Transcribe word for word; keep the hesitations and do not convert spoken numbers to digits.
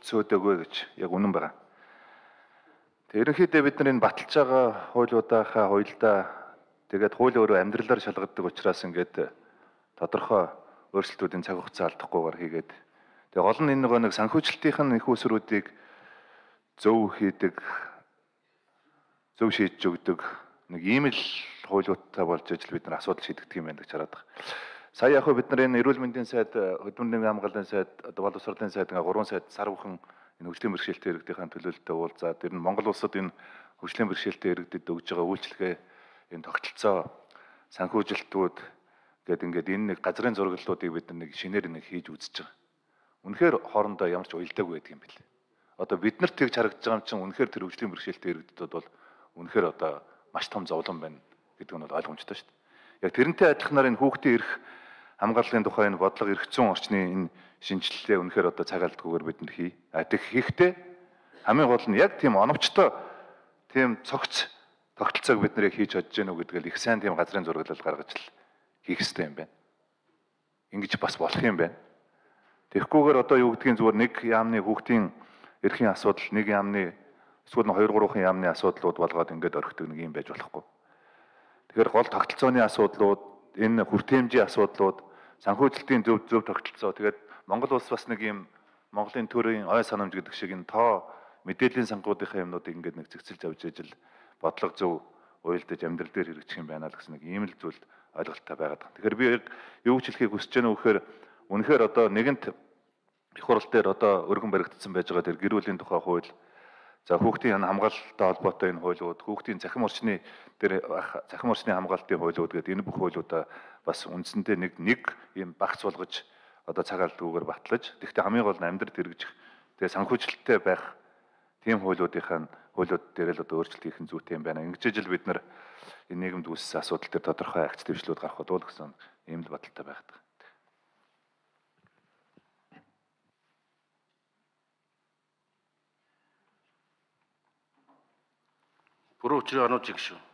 цөөдөгөө гэж яг үнэн байгаа. Тэг ерөнхийдөө бид нар энэ баталж байгаа хуулиудынхаа хуйлдаа тэгээд хууль өөрөө амьдралаар шалгадаг учраас ингээд тодорхой өөрчлөлтүүдийн цаг хугацаа алдахгүйгээр хийгээд тэг гол нь энэ нөгөө нэг санхүүжилтийнх нь их усруудыг зөв хийдэг, зөв шийдэж өгдөг нэг ийм л хуулиудтай болж ижил бид нар асуудал шийдэгдэх юм байна гэж хараад байгаа. Сая яг бид нар энэ эрүүл мэндийн сайд, хөдөлмөрийн хамгааллын сайд, боловсролын сайд ингээ гурван сайд сар бүхэн энэ хөгжлийн бэрхшээлтэй иргэдийн төлөөлөлтөд уулзаад ер нь Монгол улсад энэ хөгжлийн бэрхшээлтэй иргэдэд өгж байгаа үйлчлэгээ энэ тогтолцоо санхүүжилтүүд гэдэг ингээд энэ нэг газрын зураглалуудыг бид нэг шинээр нэг хийж үзэж байгаа. Үнэхээр хоорондоо ямар ч уялдаагүй байдаг юм бэл. Одоо бид нарт тэгж харагдаж байгаа юм чинь үнэхээр тэр хөгжлийн бэрхшээлтэй иргэдэд бол үнэхээр одоо маш том зовлон байна гэдэг нь бол ойлгомжтой шүү дээ. Яг тэрнтэй адилханаар энэ хүүхдийн эрх хамгааллын тухай энэ бодлого эрх зүйн орчны энэ шинжилгээ үнэхээр одоо цаг алдгүйгээр бид нар хий. А тэг хийхдээ хамгийн гол нь яг тийм оновчтой тийм цогц тогтолцоог бид нэр хийж чадж гэнэ үү гэдгээл их сайн тийм газрын зураглал гаргаж л хийх хэрэгтэй юм байна. Ингэж бас болох юм байна. Тэгэхгүйгээр одоо юу гэдгийг зүгээр нэг яамны хүүхдийн эрхийн асуудал, нэг яамны эсвэл нь хоёр гурван яамны асуудлууд болгоод ингээд орхидог нэг юм байж болохгүй. Тэгэхээр гол тогтолцооны асуудлууд, энэ хүртээмжийн асуудлууд, санхүүжилтийн зөв зөв тогтолцоо. Тэгээд Монгол улс бас нэг юм Монголын төрийн ой санамж гэдэг шиг энэ тоо мэдээллийн сангуудынхаа юмнуудыг ингээд нэг зэгцэлж авч ижил бодлого зөв уйлдаж амьдрал дээр хэрэгжих юм байна л гэсэн нэг ийм л зүйл ойлголттой байгаад байна. Тэгэхээр би яг юу ч хэлхийг хүсэж байна вэ гэхээр үнэхээр одоо нэгэнт их хурал дээр одоо өргөн баригдсан байж байгаа тэр гэр бүлийн тухай хууль, за хүүхдийн хамгаалалттай холбоотой энэ хуулиуд, хүүхдийн захим орчны тэр захим орчны хамгаалтын хуулиуд гэдэг энэ бүх хуулиудаа бас үндсэндээ нэг нэг ийм багц болгож одоо цаг алдгүйгээр батлаж, тэгэхдээ хамгийн гол нь амьдрал хэрэгжих, тэгээ санхүүжилттэй байх тийм хуулиудынхаа хуулиуд дээр л одоо өөрчлөлт хийх нь зүйтэй юм байна. Ингэж ижил бид нар энэ нийгэмд үүссэн асуудал дээр тодорхой агц дэвшлүүд гарах болов уу гэсэн ийм л бодолтой байгаад байна. Буруу учрыг анууд чиг шүү.